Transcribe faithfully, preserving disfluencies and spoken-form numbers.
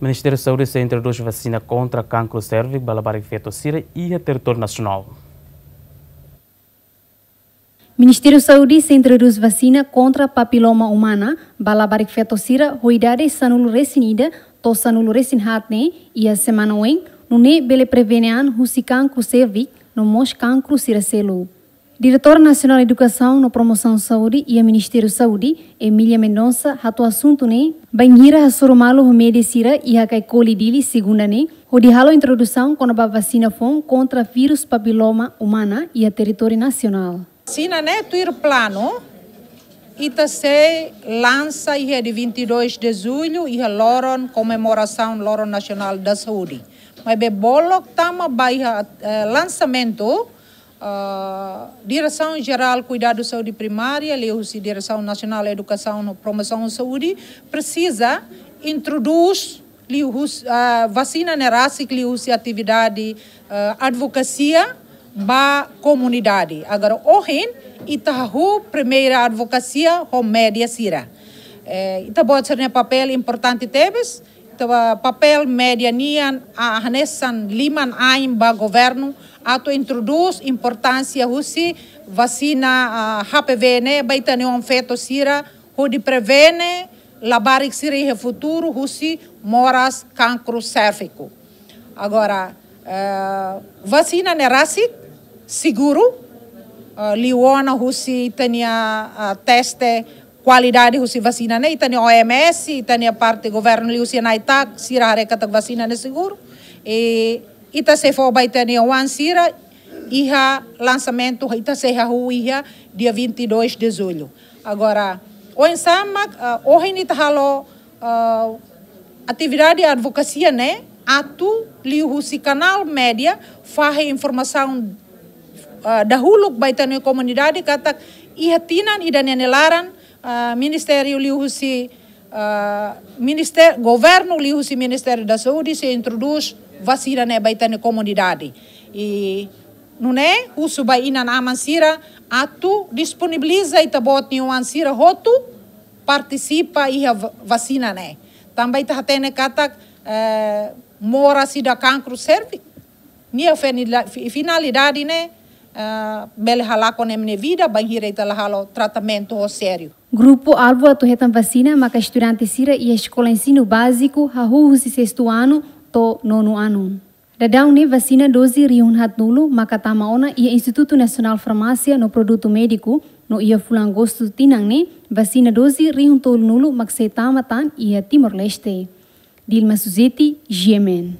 Ministériu Saúde sei introdús vasina kontra kankru sérviku ba labarik feto sira iha territóriu nasionál. Ministériu Saúde sei introdús vasina kontra papiloma umana ba labarik feto sira ho idade sanulu resin ida to'o sanulu resin haat ne'e iha semana oin, nune'e bele prevene an husi kankru sérviku no mós kankru sira seluk. Diretora Nasionál Edukasaun no Promosaun Saúde iha Ministériu Saúde, Emília Mendonça, hato'o asuntu ne'e bainhira hasoru malu ho média sira iha Caicoli, Dili, segunda ne'e, hodi halo introdusaun kona-ba vasina foun kontra vírus papiloma umana iha territóriu nasionál. Vasina ne'e tuir planu, ita sei lansa iha dia vinte e dois de julho, iha loron komemorasaun Loron Nasionál da Saúde. Maibé bolo tama ba iha, eh, lansamentu, ah, Diresaun Jerál Kuidadu Saúde Primária, liuhusi Diresaun Nasionál Edukasaun no Promosaun Saúde, presiza introdús liuhusi, ah, vasina ne'e rasik liuhusi atividade, ah, advokasia ba komunidade. Agora, ohin, ita hahú primeira advokasia ho média sira. Eh, ita-boot sira-nia papél importante tebes, ita-boot papél média nian, ah, hanesan liman-ain ba governu, atu introdús importánsia husi vasina, ah, H P V ne'e ba ita-nia oan feto sira, hodi prevene labarik sira iha futuru husi moras kankru sérviku. Agora, eh, vasina ne'e rasik, seguru, eh, liu ona husi ita-nia, ah, teste kualidade husi vasina ne'e, ita-nia O M S, ita-nia parte governu liuhusi ANAITAC, sira haree katak vasina ne'e seguru. I ita sei fó ba ita-nia oan sira, iha lansamentu, ita sei hahú iha dia vinte e dois de julho. Agora, oinsá mak, ah, ohin ita halo, ah, atividade advokasia ne'e, atu liuhusi kanál média fahe informasaun, ah, dahuluk ba ita-nia komunidade katak iha tinan ida-ne'e nia laran, ah, ministériu liuhusi, ah, ministér-, governu liuhusi Ministériu da Saúde sei introdús vasina ne'e ba ita-nia komunidade. I nune'e husu ba inan-aman sira atu disponibiliza ita-boot nia oan sira hotu partisipa iha va-, vasina ne'e. Tanba ita hatene katak, eh, moras ida kankru sérviku, nia fenila-, fi-, finalidade ne'e, eh, bele halakon ema nia vida, bainhira ita la halo tratamentu ho sériu. Grupu alvu atu hetan vasina maka estudante sira iha eskola ensinu báziku hahú husi sestu anu to'o nonu anu. Daudaun ne'e vasina doze rihun haatnulu maka tama ona iha Institutu Nasionál Farmásia no Produtu Médiku, no iha fulan Agostu tinan ne'e, vasina doze rihun tolunulu mak sei tama tan iha Timor-Leste. Dilma Suzeti, G M N.